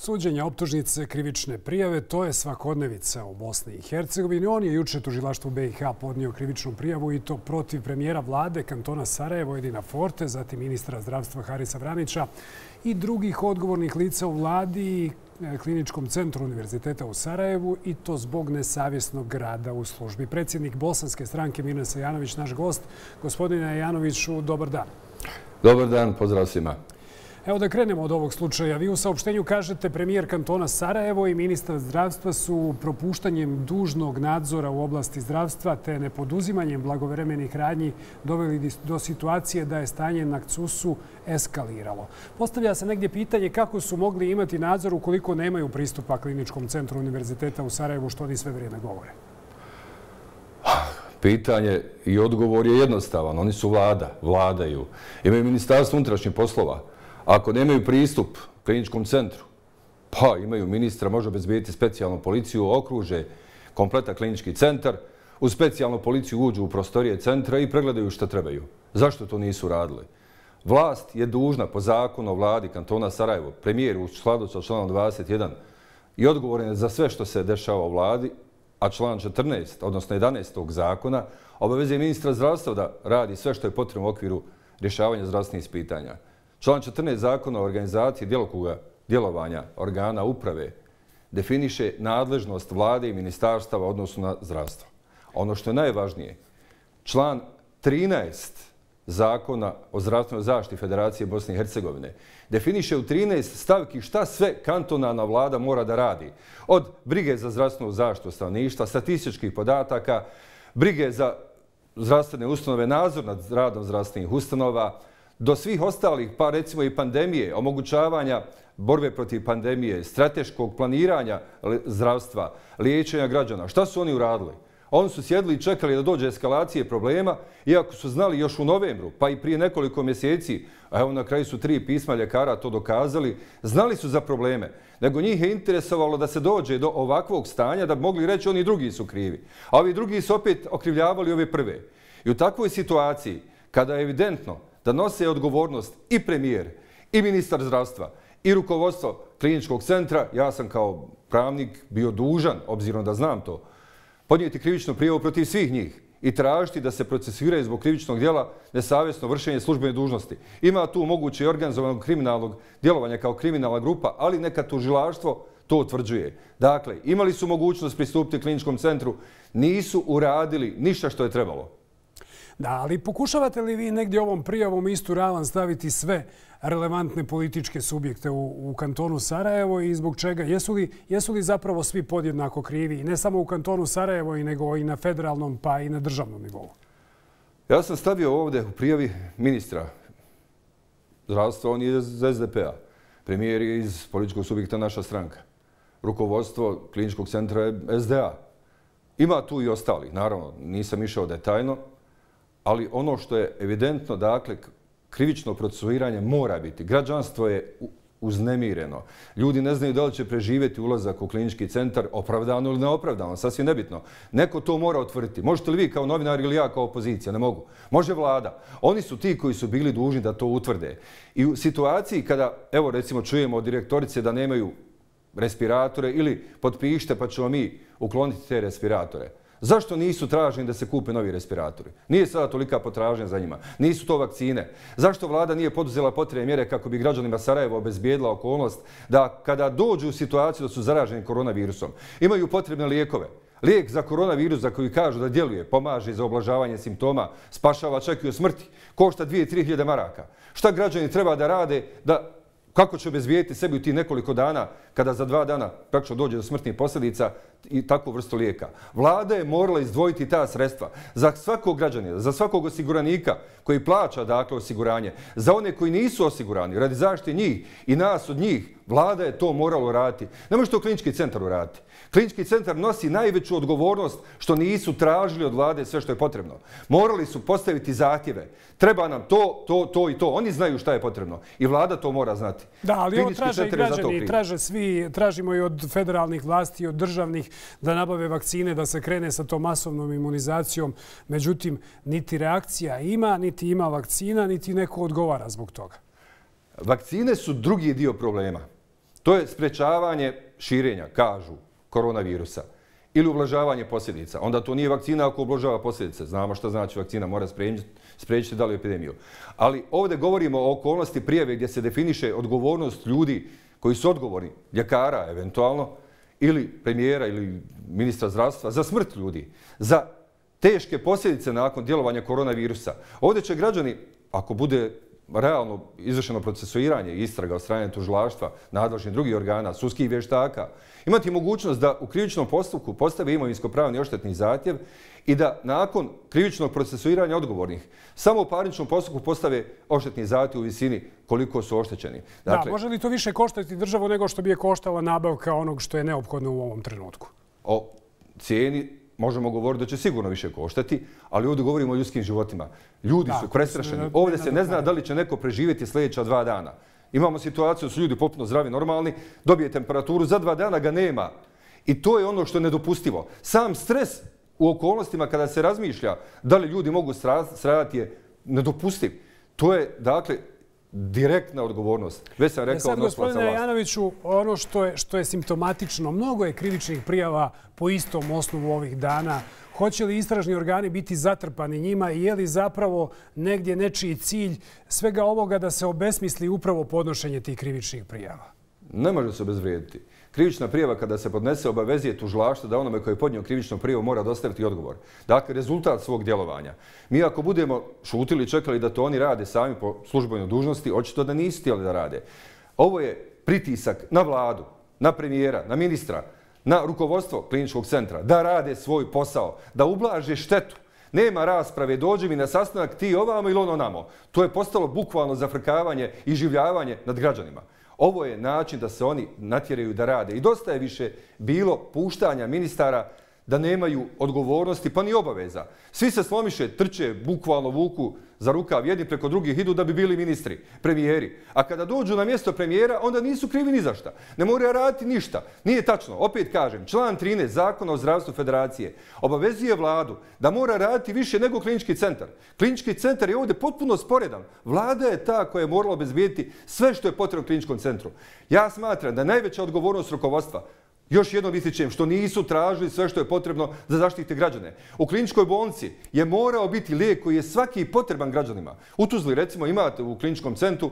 Suđenja, optužnice, krivične prijave, to je svakodnevica u Bosni i Hercegovini. On je juče tužilaštvu BiH podnio krivičnu prijavu i to protiv premijera vlade kantona Sarajevo Edina Forte, zatim ministra zdravstva Harisa Vranića i drugih odgovornih lica u vladi i Kliničkom centru Univerziteta u Sarajevu i to zbog nesavjesnog rada u službi. Predsjednik bosanske stranke Mirnes Janović, naš gost. Gospodine Janoviću, dobar dan. Dobar dan, pozdrav svima. Evo da krenemo od ovog slučaja. Vi u saopštenju kažete premijer kantona Sarajevo i ministar zdravstva su propuštanjem dužnog nadzora u oblasti zdravstva te nepoduzimanjem blagovremenih radnji doveli do situacije da je stanje na CUS-u eskaliralo. Postavlja se negdje pitanje kako su mogli imati nadzor ukoliko nemaju pristupa Kliničkom centru Univerziteta u Sarajevu, što oni sve vrijeme govore. Pitanje i odgovor je jednostavan. Oni su vladaju. Imaju Ministarstvo unutrašnjih poslova. Ako nemaju pristup Kliničkom centru, pa imaju ministra, može obezbediti specijalnu policiju, okruže kompletan klinički centar, u specijalnu policiju uđu u prostorije centra i pregledaju što trebaju. Zašto to nisu radili? Vlast je dužna po zakonu o vladi kantona Sarajevo, premijer u skladu sa članom 21 i odgovoran je za sve što se dešava u vladi, a član 14, odnosno 11. zakona, obavezuje ministra zdravstva da radi sve što je potrebno u okviru rješavanja zdravstvenih pitanja. Član 14 zakona o organizaciji djelovanja organa uprave definiše nadležnost vlade i ministarstava u odnosu na zdravstvo. Ono što je najvažnije, član 13 zakona o zdravstvenoj zaštiti Federacije Bosne i Hercegovine definiše u 13 stavki šta sve kantonalna vlada mora da radi. Od brige za zdravstvenu zaštitu stanovništva, statističkih podataka, brige za zdravstvene ustanove, nadzor nad radom zdravstvenih ustanova, do svih ostalih, pa recimo i pandemije, omogućavanja borbe protiv pandemije, strateškog planiranja zdravstva, liječenja građana. Šta su oni uradili? Oni su sjedili i čekali da dođe eskalacije problema, iako su znali još u novembru, pa i prije nekoliko mjeseci, a evo na kraju su 3 pisma ljekara to dokazali, znali su za probleme, nego njih je interesovalo da se dođe do ovakvog stanja da bi mogli reći oni drugi su krivi. A ovi drugi su opet okrivljavali ove prve. I u takvoj situaciji, kada je evidentno da nose odgovornost i premijer, i ministar zdravstva, i rukovodstvo kliničkog centra, ja sam kao pravnik bio dužan, obzirom da znam to, podnijeti krivičnu prijavu protiv svih njih i tražiti da se procesuiraju zbog krivičnog djela nesavjesno vršenje službene dužnosti. Ima tu moguće organizovanog kriminalnog djelovanja kao kriminalna grupa, ali neka tužilaštvo to utvrđuje. Dakle, imali su mogućnost pristupiti kliničkom centru, nisu uradili ništa što je trebalo. Da, ali pokušavate li vi negdje ovom prijavom istu ravan staviti sve relevantne političke subjekte u kantonu Sarajevo i zbog čega? Jesu li zapravo svi podjednako krivi, ne samo u kantonu Sarajevo, nego i na federalnom pa i na državnom nivou? Ja sam stavio ovdje u prijavi ministra zdravstva, on je iz SDP-a. Premijer je iz političkog subjekta naša stranka. Rukovodstvo kliničkog centra je SDA. Ima tu i ostali, naravno, nisam išao detaljno, ali ono što je evidentno, dakle, krivično procesuiranje mora biti. Građanstvo je uznemireno. Ljudi ne znaju da li će preživjeti ulazak u klinički centar opravdano ili neopravdano, sasvim nebitno. Neko to mora utvrditi. Možete li vi kao novinar ili ja kao opozicija? Ne mogu. Može vlada. Oni su ti koji su bili dužni da to utvrde. I u situaciji kada, evo recimo, čujemo od direktorice da nemaju respiratore ili potpišite pa ćemo mi ukloniti te respiratore. Zašto nisu traženi da se kupe novi respiratori? Nije sada tolika potražnja za njima. Nisu to vakcine. Zašto vlada nije poduzela potrebne mjere kako bi građanima Sarajeva obezbijedila okolnost da kada dođu u situaciju da su zaraženi koronavirusom, imaju potrebne lijekove? Lijek za koronavirus za koji kažu da djeluje, pomaže za oblažavanje simptoma, spašava čak i od smrti, košta 2-3 hiljade maraka. Šta građani treba da rade kako će obezbijediti sebi u tih nekoliko dana kada za 2 dana praktično dođe do smrtnih posljedica i takvu vrstu lijeka? Vlada je morala izdvojiti ta sredstva za svakog građanina, za svakog osiguranika koji plaća dakle osiguranje, za one koji nisu osigurani, radi zaštite njih i nas od njih. Vlada je to morala uraditi. Ne može to klinički centar uraditi. Klinički centar nosi najveću odgovornost što nisu tražili od vlade sve što je potrebno. Morali su postaviti zahtjeve. Treba nam to i to. Oni znaju šta je potrebno. I vlada to mora znati. Da, ali ovo traže i građani, traže svi, tražimo i od federalnih vlasti, i od državnih da nabave vakcine, da se krene sa tom masovnom imunizacijom. Međutim, niti reakcija ima, niti ima vakcina, niti neko odgovara zbog toga. Vakcine su drugi dio problema. To je sprečavanje širenja, kažu, koronavirusa ili ublažavanje posljedica. Onda to nije vakcina ako ublažava posljedice. Znamo šta znači vakcina, mora spriječiti dalju epidemiju. Ali ovdje govorimo o okolnosti prijave gdje se definiše odgovornost ljudi koji su odgovorni, ljekara eventualno, ili premijera ili ministra zdravstva, za smrt ljudi, za teške posljedice nakon djelovanja koronavirusa. Ovdje će građani, ako bude realno izvršeno procesuiranje i istraga od strane tužilaštva, nadležnih drugih organa, sudskih vještaka, imati mogućnost da u krivičnom postupku postave imovinsko-pravni odštetni zahtjev i da nakon krivičnog procesuiranja odgovornih samo u parničnom postupku postave odštetni zahtjev u visini koliko su oštećeni. Dakle, može li to više koštati državu nego što bi je koštala nabavka onog što je neophodno u ovom trenutku? O cijeni možemo govoriti da će sigurno više koštati, ali ovdje govorimo o ljudskim životima. Ljudi su prestrašeni. Ovdje se ne zna da li će neko preživjeti sljedeća 2 dana. Imamo situaciju da su ljudi potpuno zdravi, normalni, dobije temperaturu, za 2 dana ga nema. I to je ono što je nedopustivo. Sam stres u okolnostima kada se razmišlja da li ljudi mogu stradati je nedopustiv. To je, dakle, direktna odgovornost. Već sam rekao sad, gospodine Janoviću, ono što je simptomatično, mnogo je krivičnih prijava po istom osnovu ovih dana. Hoće li istražni organi biti zatrpani njima i je li zapravo negdje nečiji cilj svega ovoga da se obesmisli upravo podnošenje tih krivičnih prijava? Ne može se obezvrijediti. Krivična prijava kada se podnese obavezuje tužilaštvo da onome koji je podnio krivičnu prijavu mora dostaviti odgovor. Dakle, rezultat svog djelovanja. Mi ako budemo šutili i čekali da to oni rade sami po službenoj dužnosti, očito da nisu htjeli da rade. Ovo je pritisak na vladu, na premijera, na ministra, na rukovodstvo kliničkog centra da rade svoj posao, da ublaže štetu. Nema rasprave, dođe mi na sastanak ti ovamo ili ono namo. To je postalo bukvalno zafrkavanje i življavanje nad građanima. Ovo je način da se oni natjeraju da rade. I dosta je više bilo puštanja ministara da nemaju odgovornosti pa ni obaveza. Svi se slomiše, trče, bukvalno vuku za rukav, jedni preko drugih idu da bi bili ministri, premijeri. A kada dođu na mjesto premijera, onda nisu krivi ni za šta. Ne moraju raditi ništa. Nije tačno. Opet kažem, član 13 Zakona o zdravstvu federacije obavezuje vladu da mora raditi više nego klinički centar. Klinički centar je ovdje potpuno sporedan. Vlada je ta koja je morala obezbijediti sve što je potrebno kliničkom centru. Ja smatram da je najveća odgovornost rukovodstva, još jednom ističem, što nisu tražili sve što je potrebno za zaštite građane. U kliničkoj bolnici je morao biti lijek koji je svaki potreban građanima. U Tuzli, recimo, imate u kliničkom centru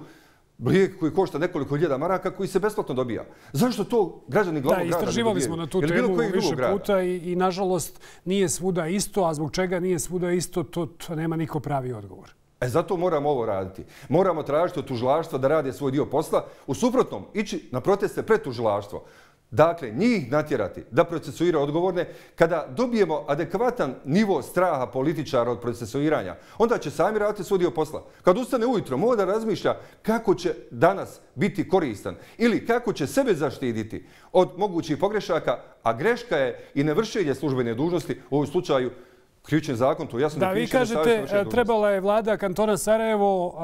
lijek koji košta nekoliko hiljada maraka koji se besplatno dobija. Zašto to građani glavnog grada ne dobijaju? Istraživali smo na tu temu više puta i nažalost nije svuda isto, a zbog čega nije svuda isto, to nema niko pravi odgovor. Zato moramo ovo raditi. Moramo tražiti od tužilaštva da rade svoj dio posla. U suprotnom, ići na proteste pred tužilaštvo. Dakle, njih natjerati da procesuira odgovorne. Kada dobijemo adekvatan nivo straha političara od procesuiranja, onda će sami raditi svoj dio posla. Kad ustane ujutro, mora da razmišlja kako će danas biti koristan ili kako će sebe zaštititi od mogućih pogrešaka, a greška je i nevršenje službene dužnosti, u ovom slučaju krivični zakon, to jasno ne piše. Da, vi kažete, trebala je vlada kantona Sarajevo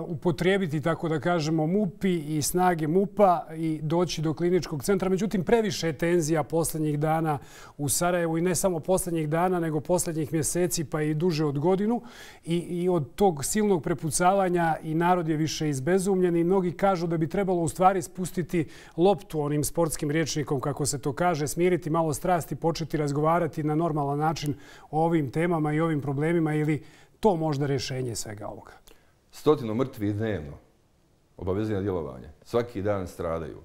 upotrijebiti, tako da kažemo, MUP-i i snage MUP-a i doći do kliničkog centra. Međutim, previše je tenzija posljednjih dana u Sarajevu i ne samo posljednjih dana, nego posljednjih mjeseci pa i duže od godinu. I od tog silnog prepucavanja i narod je više izbezumljen i mnogi kažu da bi trebalo u stvari spustiti loptu onim sportskim rječnikom, kako se to kaže, smiriti malo strasti, početi razgovarati na normalan način o ovim temama i ovim problemima ili to možda rješenje svega ovoga? 100 mrtvih dnevno, obavezno djelovanje. Svaki dan stradaju.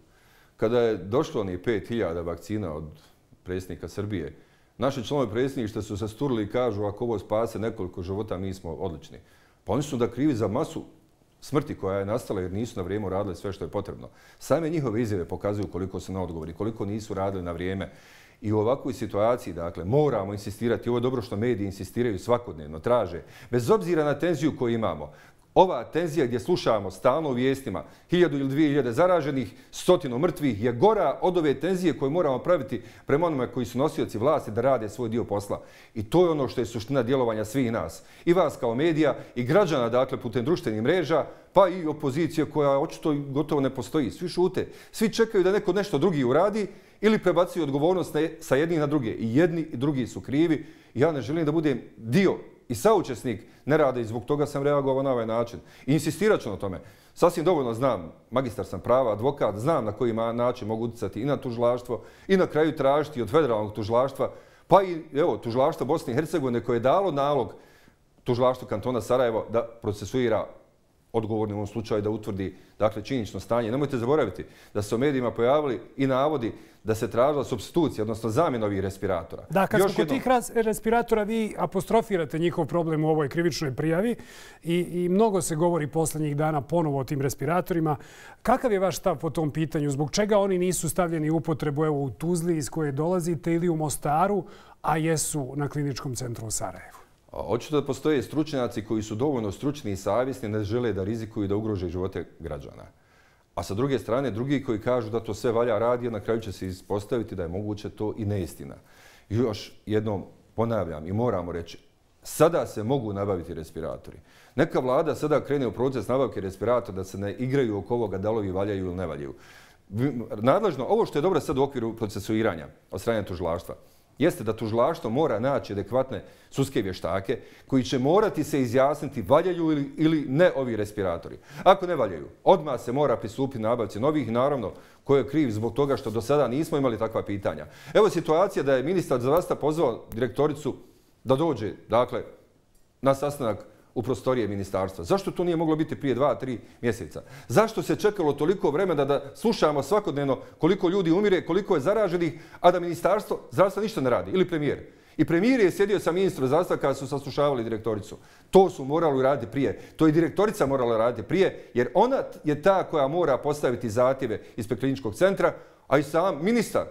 Kada je došlo onih 5000 vakcina od predsjednika Srbije, naši članovi predsjedništva su se sturili i kažu ako ovo spase nekoliko života, mi smo odlični. Pa oni su da krivi za masu smrti koja je nastala jer nisu na vrijeme radili sve što je potrebno. Same njihove izjave pokazuju koliko su neodgovorni, koliko nisu radili na vrijeme. I u ovakvoj situaciji, dakle, moramo insistirati. Ovo je dobro što mediji insistiraju svakodnevno, traže. Bez obzira na tenziju koju imamo, ova tenzija gdje slušamo stalno u vijestima 1000 ili 2000 zaraženih, 100 mrtvih je gora od ove tenzije koje moramo praviti prema onome koji su nosioci vlasti da rade svoj dio posla. I to je ono što je suština djelovanja svih nas. I vas kao medija i građana, dakle, putem društvenih mreža, pa i opozicije koja očito gotovo ne postoji. Svi šute. Svi čekaju da neko nešto drugi uradi ili prebacuju odgovornost sa jednih na druge. I jedni i drugi su krivi. Ja ne želim da budem dio i saučesnik ne rade i zbog toga sam reagovao na ovaj način. I insistirat ću na tome. Sasvim dovoljno znam, magistar sam prava, advokat, znam na koji način mogu utjecati i na tužilaštvo i na kraju tražiti od federalnog tužilaštva, pa i tužilaštvo Bosne i Hercegovine koje je dalo nalog tužilaštvu kantona Sarajevo da procesuira odgovorni u ovom slučaju, da utvrdi činjenično stanje. Nemojte zaboraviti da se u medijima pojavili i navodi da se tražila supstitucija, odnosno zamjena ovih respiratora. Da, kad smo kod tih respiratora, vi apostrofirate njihov problem u ovoj krivičnoj prijavi i mnogo se govori posljednjih dana ponovo o tim respiratorima. Kakav je vaš stav po tom pitanju? Zbog čega oni nisu stavljeni u upotrebu u Tuzli iz koje dolazite ili u Mostaru, a jesu na kliničkom centru u Sarajevu? Očito da postoje stručnjaci koji su dovoljno stručni i savjesni, ne žele da rizikuju i da ugrože živote građana. A sa druge strane, drugi koji kažu da to sve valja radi, na kraju će se ispostaviti da je moguće to i neistina. I još jednom ponavljam i moramo reći, sada se mogu nabaviti respiratori. Neka vlada sada krene u proces nabavke respiratora da se ne igraju oko ovoga da li valjaju ili ne valjaju. Nadležno, ovo što je dobro sad u okviru procesuiranja od strane tužilaštva, jeste da tužilaštvo mora naći adekvatne sudske vještake koji će morati se izjasniti valjaju ili ne ovi respiratori. Ako ne valjaju, odmah se mora pristupiti nabavci novih i naravno ko je kriv zbog toga što do sada nismo imali takva pitanja. Evo situacija da je ministar zdravstva pozvao direktoricu da dođe na sastanak u prostorije ministarstva. Zašto to nije moglo biti prije 2-3 mjeseca? Zašto se čekalo toliko vremena da slušamo svakodnevno koliko ljudi umire, koliko je zaraženih, a da ministarstvo zdravstva ništa ne radi? Ili premijer? I premijer je sjedio sa ministrom zdravstva kada su saslušavali direktoricu. To su morali raditi prije. To i direktorica morala raditi prije, jer ona je ta koja mora postaviti zahtjeve ispred kliničkog centra, a i sam ministar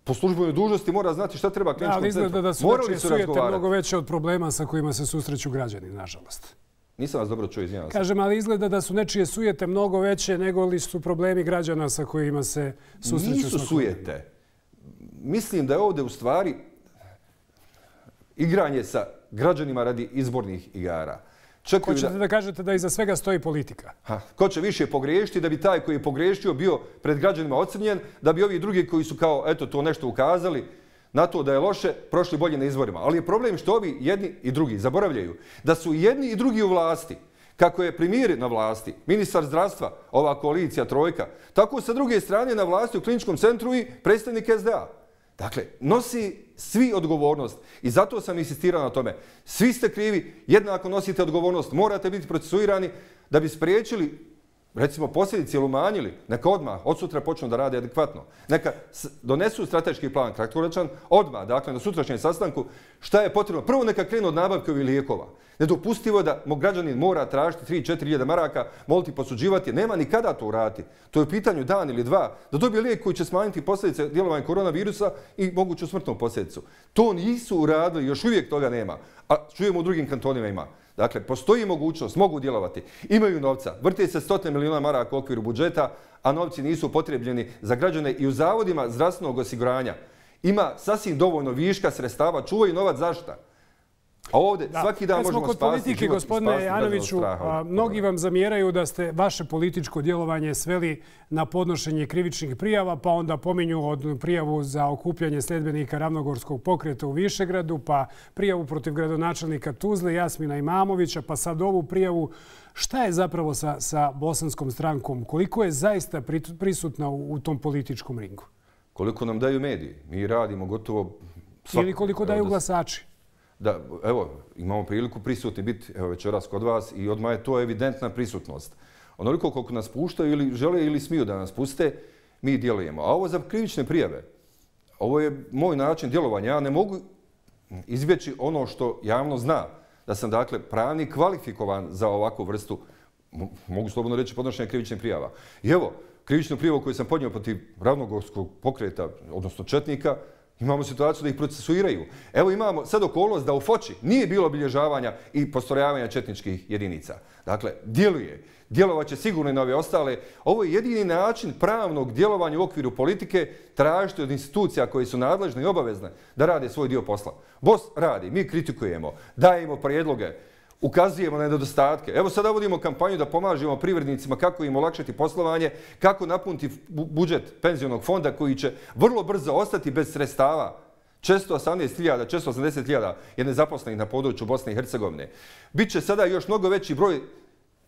po službenoj dužnosti mora znati šta treba kliničkom centru. Ali izgleda da su nečije sujete mnogo veće od problema sa kojima se susreću građani, nažalost. Nisam vas dobro čuo, izvinjavam se. Kažem, ali izgleda da su nečije sujete mnogo veće nego li su problemi građana sa kojima se susreću. Nisu sujete. Mislim da je ovdje u stvari igranje sa građanima radi izbornih igara. Hoćete da kažete da iza svega stoji politika? Ko će više pogriješiti da bi taj koji je pogriješio bio pred građanima ocrnjen, da bi ovi drugi koji su kao to nešto ukazali na to da je loše, prošli bolje na izborima. Ali je problem što ovi jedni i drugi zaboravljaju da su jedni i drugi u vlasti. Kako je premijer na vlasti, ministar zdravstva, ova koalicija trojka, tako sa druge strane na vlasti u kliničkom centru i predstavnik SDA. Dakle, nosi svi odgovornost i zato sam insistirao na tome. Svi ste krivi, jednako nosite odgovornost, morate biti procesuirani da bi spriječili, recimo, posljedice ili umanjili. Neka odmah, od sutra počnu da rade adekvatno. Neka donesu strateški plan kratkoročan, odmah, dakle, na sutrašnjem sastanku, šta je potrebno. Prvo neka krenu od nabavke ovih lijekova. Nedopustivo je da građanin mora tražiti 3-4 hiljada maraka, moliti, posuđivati. Nema ni kada to uraditi. To je u pitanju dan ili dva. Da dobije lijek koji će smanjiti posljedice djelovanja koronavirusa i moguću smrtnu posljedicu. To nisu uradili, još uvijek toga nema. A čujemo u drugim kantonima ima. Dakle, postoji mogućnost, mogu djelovati. Imaju novca. Vrte se 100 miliona maraka u okviru budžeta, a novci nisu potrebljeni za građane i u zavodima zdravstvenog osiguranja. Ima sasvim dovoljno viška sredstava. Čuvaju novac zašta? A ovdje svaki dan možemo spasiti život. Gospodine Janoviću, mnogi vam zamjeraju da ste vaše političko djelovanje sveli na podnošenje krivičnih prijava, pa onda pominju od prijavu za okupljanje sljedbenika Ravnogorskog pokreta u Višegradu, pa prijavu protiv gradonačelnika Tuzle, Jasmina Imamovića, pa sad ovu prijavu. Šta je zapravo sa bosanskom strankom? Koliko je zaista prisutna u tom političkom ringu? Koliko nam daju mediji. Mi radimo gotovo... Ili koliko daju glasači? Da, evo, imamo priliku prisutni biti večeras kod vas i odmah je to evidentna prisutnost. Onoliko koliko nas puštaju ili žele ili smiju da nas puste, mi djelujemo. A ovo za krivične prijave, ovo je moj način djelovanja. Ja ne mogu izbjeći ono što javno zna, da sam dakle pravnik kvalifikovan za ovakvu vrstu, mogu slobodno reći, podnošenja krivičnih prijava. I evo, krivičnu prijavu koju sam podnio protiv Ravnogorskog pokreta, odnosno četnika, imamo situaciju da ih procesuiraju. Evo imamo sad okolnost da u Foči nije bilo obilježavanja i postrojavanja četničkih jedinica. Dakle, djeluje. Djelovaće sigurno i na ove ostale. Ovo je jedini način pravnog djelovanja u okviru politike, tražiti od institucija koje su nadležne i obavezne da rade svoj dio posla. BOS radi, mi kritikujemo, dajemo prijedloge, ukazujemo na nedostatke. Evo sada vodimo kampanju da pomažemo privrednicima kako im olakšati poslovanje, kako napuniti budžet penzionog fonda koji će vrlo brzo ostati bez sredstava. 418.000, 480.000 je nezaposlenih na području Bosne i Hercegovine. Biće sada još mnogo veći broj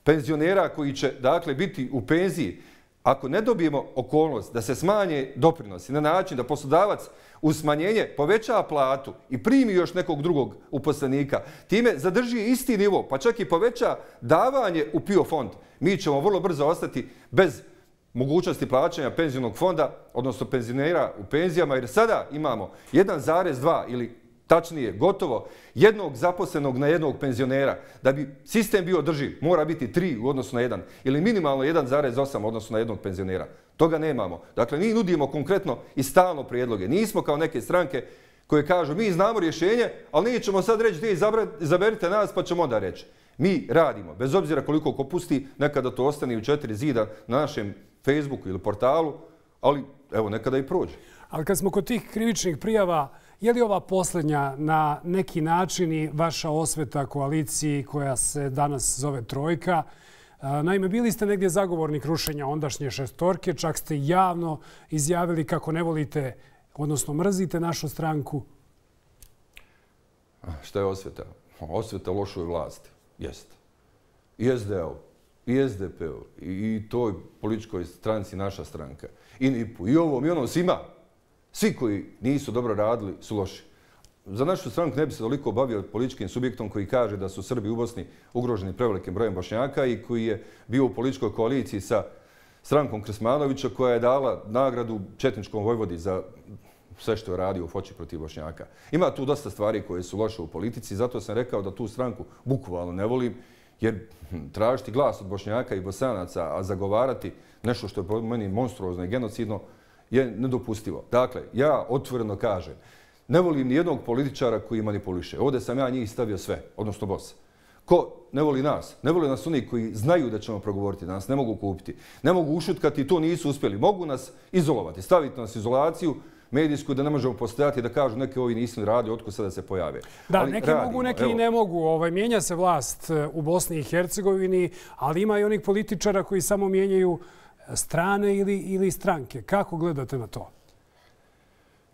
penzionera koji će, dakle, biti u penziji. Ako ne dobijemo okolnost da se smanje doprinosi na način da poslodavac uz smanjenje poveća platu i primi još nekog drugog uposlenika, time zadrži isti nivo, pa čak i poveća davanje u PIO fond, mi ćemo vrlo brzo ostati bez mogućnosti plaćanja penzionog fonda, odnosno penzionera u penzijama, jer sada imamo 1,2 ili tačnije gotovo jednog zaposlenog na jednog penzionera. Da bi sistem bio održiv, mora biti 3 u odnosu na 1 ili minimalno 1,8 u odnosu na jednog penzionera. Toga nemamo. Dakle, mi nudimo konkretno i stalno prijedloge. Nismo kao neke stranke koje kažu mi znamo rješenje, ali nećemo sad reći ti izaberite nas pa ćemo onda reći. Mi radimo, bez obzira koliko ko pusti, nekada to ostane u 4 zida na našem Facebooku ili portalu, ali evo nekada i prođe. Ali kad smo kod tih krivičnih prijava, je li ova posljednja na neki način i vaša osveta koaliciji koja se danas zove Trojka? Naime, bili ste negdje zagovornik rušenja ondašnje šestorke, čak ste javno izjavili kako ne volite, odnosno mrzite našu stranku. Šta je osveta? Osveta lošoj vlasti. Jeste. I SDA-u, i SDP-u, i toj političkoj stranci naša stranka. I NIP-u, i ovom, i onom, svima. Svi koji nisu dobro radili su loši. Za našu stranku ne bi se toliko bavio političkim subjektom koji kaže da su Srbi u Bosni ugroženi prevelikim brojem Bošnjaka i koji je bio u političkoj koaliciji sa strankom Krsmanovića koja je dala nagradu četničkom vojvodi za sve što je radio u Foči protiv Bošnjaka. Ima tu dosta stvari koje su loše u politici, zato sam rekao da tu stranku bukvalno ne volim, jer tražiti glas od Bošnjaka i Bosanaca, a zagovarati nešto što je po meni monstruozno i genocidno, je nedopustivo. Dakle, ja otvoreno kažem, ne volim ni jednog političara koji manipuliše. Ovdje sam ja njih stavio sve, odnosno boss. Ko ne voli nas? Ne voli nas oni koji znaju da ćemo progovoriti, da nas ne mogu kupiti. Ne mogu ušutkati, to nisu uspjeli. Mogu nas izolovati, staviti nas izolaciju medijsku da ne možemo postojati da kažu neke ovi nisu radili, otkud sada se pojave. Da, neki mogu, neki i ne mogu. Mijenja se vlast u Bosni i Hercegovini, ali ima i onih političara koji samo mijenjaju strane ili stranke. Kako gledate na to?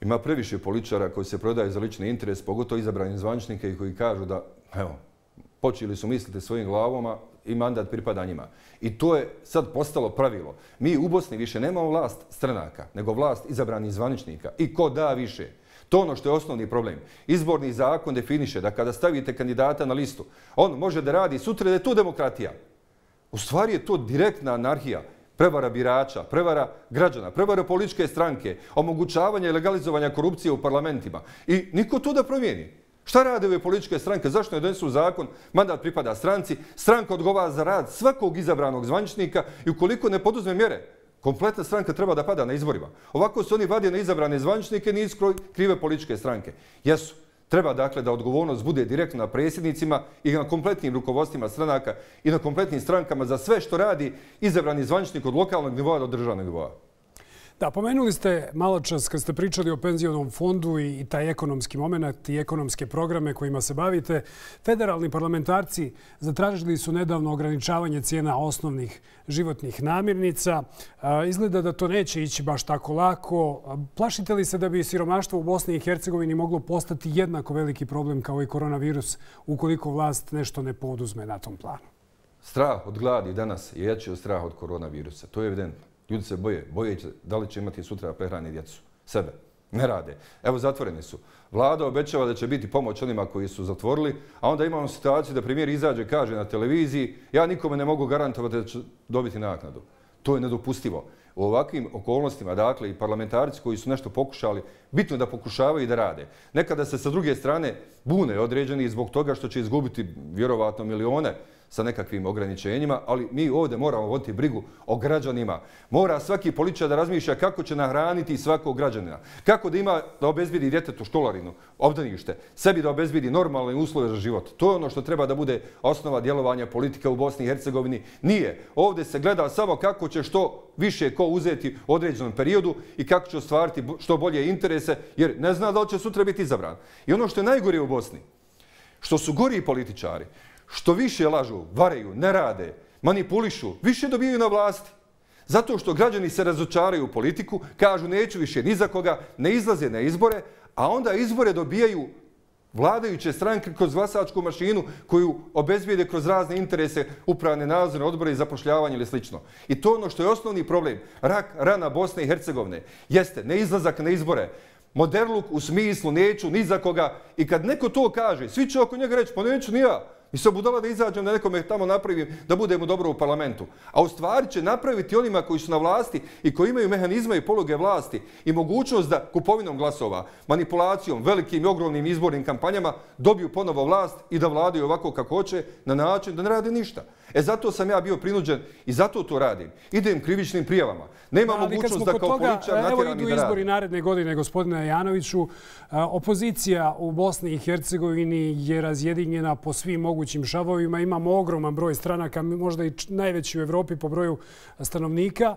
Ima previše političara koji se prodaju za lični interes, pogotovo izabrani zvaničnike i koji kažu da, evo, počeli su misliti svojim glavama i mandat pripada njima. I to je sad postalo pravilo. Mi u Bosni više nemamo vlast stranaka, nego vlast izabranih zvaničnika. I ko da više? To ono što je osnovni problem. Izborni zakon definiše da kada stavite kandidata na listu, on može da radi sutra da je to demokratija. U stvari je to direktna anarhija. Prevara birača, prevara građana, prevara političke stranke, omogućavanje i legalizovanja korupcije u parlamentima. I niko to da promijeni. Šta rade ove političke stranke? Zašto ne donesu zakon? Mandat pripada stranci. Stranka odgovara za rad svakog izabranog zvaničnika i ukoliko ne poduzme mjere, kompletna stranka treba da pada na izborima. Ovako se oni vade na izabrane zvaničnike, nisu krive političke stranke. Jesu. Treba dakle da odgovornost bude direktno na predsjednicima i na kompletnim rukovodstvima stranaka i na kompletnim strankama za sve što radi izabrani zvaničnik od lokalnog nivoa do državnog nivoa. Da, pomenuli ste malo čas kad ste pričali o penzionom fondu i taj ekonomski moment i ekonomske programe kojima se bavite. Federalni parlamentarci zatražili su nedavno ograničavanje cijena osnovnih životnih namirnica. Izgleda da to neće ići baš tako lako. Plašite li se da bi siromaštvo u Bosni i Hercegovini moglo postati jednako veliki problem kao i koronavirus ukoliko vlast nešto ne poduzme na tom planu? Strah od gladi danas je jači od straha od koronavirusa. To je evidentno. Ljudi se boje da li će imati sutra prehrani djecu. Sebe. Ne rade. Evo, zatvoreni su. Vlada obećava da će biti pomoć onima koji su zatvorili, a onda imamo situaciju da premijer izađe i kaže na televiziji ja nikome ne mogu garantovati da će dobiti naknadu. To je nedopustivo. U ovakvim okolnostima, dakle, i parlamentarci koji su nešto pokušali, bitno da pokušavaju i da rade. Nekada se sa druge strane bune određeni zbog toga što će izgubiti vjerovatno milione sa nekakvim ograničenjima, ali mi ovdje moramo voditi brigu o građanima. Mora svaki političar da razmišlja kako će nahraniti svakog građanina. Kako da obezbedi djetetu školarinu, obdanište, sebi da obezbedi normalne uslove za život. To je ono što treba da bude osnova djelovanja politika u Bosni i Hercegovini. Nije. Ovdje se gleda samo kako će što više ko uzeti u određenom periodu i kako će ostvariti što bolje interese, jer ne zna da li će sutra biti izabran. I ono što je najgore u Bosni, što su gori političari, što više lažu, varaju, ne rade, manipulišu, više dobijaju na vlasti. Zato što građani se razočaraju u politiku, kažu neću više ni za koga, ne izlaze na izbore, a onda izbore dobijaju vladajuće stranke kroz glasačku mašinu koju obezbijede kroz razne interese, upravne nadzorne odbore i zapošljavanje ili slično. I to ono što je osnovni problem, rak rana Bosne i Hercegovine, jeste neizlazak na izbore, moderluk u smislu neću ni za koga. I kad neko to kaže, svi će oko njega reći, pa neću ni ja. I se budala da izađem da nekome tamo napravim da budemo dobro u parlamentu. A u stvari će napraviti onima koji su na vlasti i koji imaju mehanizme i poluge vlasti i mogućnost da kupovinom glasova, manipulacijom, velikim i ogromnim izbornim kampanjama dobiju ponovo vlast i da vladaju ovako kako hoće na način da ne rade ništa. Zato sam ja bio prinuđen i zato to radim. Idem krivičnim prijavama. Nema mogućnost da kao političar natjeram i da radim. Evo idu izbori naredne godine, gospodine Janoviću. Opozicija u Bosni i Hercegovini je razjedinjena po svim mogućim šavovima. Imamo ogroman broj stranaka, možda i najveći u Evropi po broju stanovnika.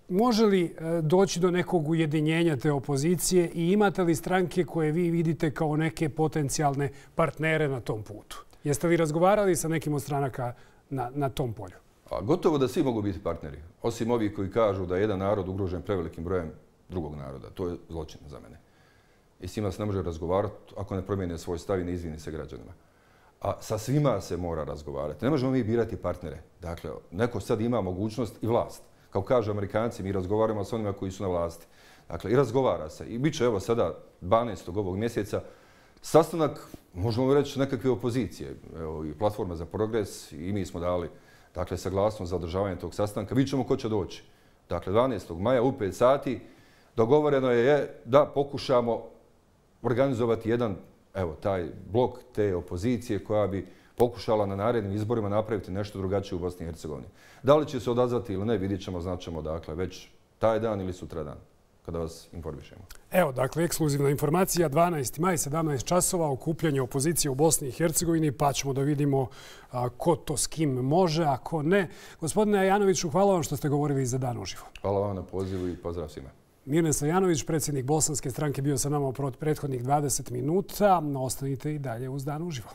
Može li doći do nekog ujedinjenja te opozicije i imate li stranke koje vi vidite kao neke potencijalne partnere na tom putu? Jeste li razgovarali sa nekim od stranaka na tom polju? Gotovo da svi mogu biti partneri, osim ovih koji kažu da je jedan narod ugrožen prevelikim brojem drugog naroda. To je zločin za mene. I s njima se ne može razgovarati ako ne promijene svoj stav i ne izvini se građanima. A sa svima se mora razgovarati. Ne možemo mi birati partnere. Dakle, neko sad ima mogućnost i vlast. Kao kažu Amerikanci, mi razgovaramo s onima koji su na vlasti. Dakle, i razgovara se. I bit će evo sada 12. ovog mjeseca sastanak, možemo reći, nekakve opozicije. Evo, i Platforma za progres i mi smo dali saglasnost za održavanje tog sastanka. Vidjet ćemo ko će doći. Dakle, 12. maja u 5 sati dogovoreno je da pokušamo organizovati jedan, evo, taj blok te opozicije koja bi pokušala na narednim izborima napraviti nešto drugačije u Bosni i Hercegovini. Da li će se odazvati ili ne, vidjet ćemo, znaćemo, dakle, već taj dan ili sutra dan, kada vas informišemo. Evo, dakle, ekskluzivna informacija, 12. maj, 17 časova, okupljanje opozicije u Bosni i Hercegovini, pa ćemo da vidimo ko to s kim može, a ko ne. Gospodine Janoviću, hvala vam što ste govorili za Dan uživo. Hvala vam na pozivu i pozdrav svima. Mirne Stojanović, predsjednik Bosanske stranke, bio sa nama u prethodnih 20 minuta. Ostanite i dalje uz Dan uživo.